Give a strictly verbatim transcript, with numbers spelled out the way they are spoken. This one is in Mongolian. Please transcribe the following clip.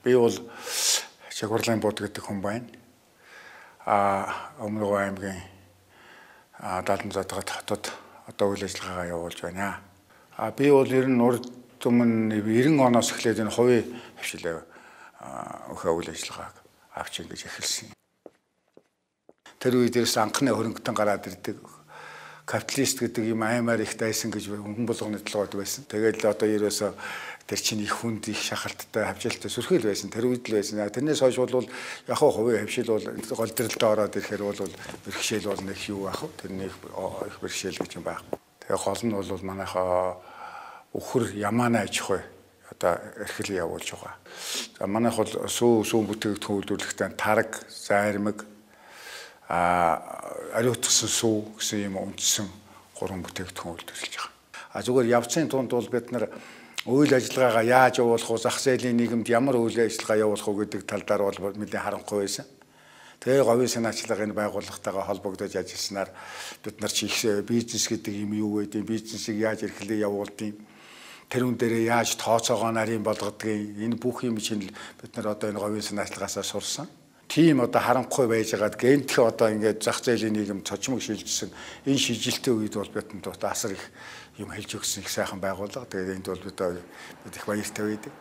Би бол Жагварлын бод гэдэг хүн байна. А Өмнөг аймгийн даалдан задгаад хотод одоо үйл ажиллагаагаа явуулж байна. А би бол ер нь урд өмнө ninety оноос эхлээд энэ хувийн хвшилээ өхөө үйл ажиллагааг авч ингэж эхэлсэн. Тэр үед ерөөс анхны хөрөнгөтөн гараад ирдэг капиталист гэдэг юм аймаар их дайсан гэж хөнгөн болгоны толгойд байсан. Тэгэл одоо ерөөсө тэр чинь их хүнд их шахалттай хавжилттай сүрхэл байсан. Тэр үед л байсан. Тэрнээс хойш бол яг хаа хувийн хвшил бол гол дэрэлдээ ороод ирэхээр бол бэрхшээл бол нэг юу ах вэ? Тэр нэг их бэрхшээл гэж юм байна. Тэгээ гол нь бол манайхаа өхөр ямаана аж ахуй одоо эрхлэл явуулж байгаа. За манайх бол сүү сүү бүтээгдэхүүн үйлдвэрлэхдээ тараг, зайрмаг а ариутгсан сүү гэсэн юм үндсэн гурван бүтээгдэхүүн үйлдвэрлэж байгаа. А зүгээр явцын тунд бол бид нар үйл ажиллагаагаа яаж явуулах вэ, зах зээлийн нийгэмд ямар үйл ажиллагаа явуулах вэ гэдэг тал дээр бол нэлээд харанхуй байсан. Тэгээ говийн санаачлагын байгууллагатайгаа холбогдож ажилласнаар бид нар чи их бизнес гэдэг юм юу гэдэг, бизнесийг яаж эрхлээ явуулдгийг, тэрүүн дээрээ яаж тооцоогоо нарийн болгодгийг, энэ бүх юм чинь бид нар одоо энэ говийн санаачлагаасаа сурсан. Тийм одоо харанхуй байж байгаад гэнтх одоо ингээд зах зээлийн нийгэм цочмог шилжсэн энэ шижилтийн үед бол бидэнд асар их юм хэлж өгсөн их сайхан байгууллага. Тэгээд энд бол бид бид их баяртай байдаг.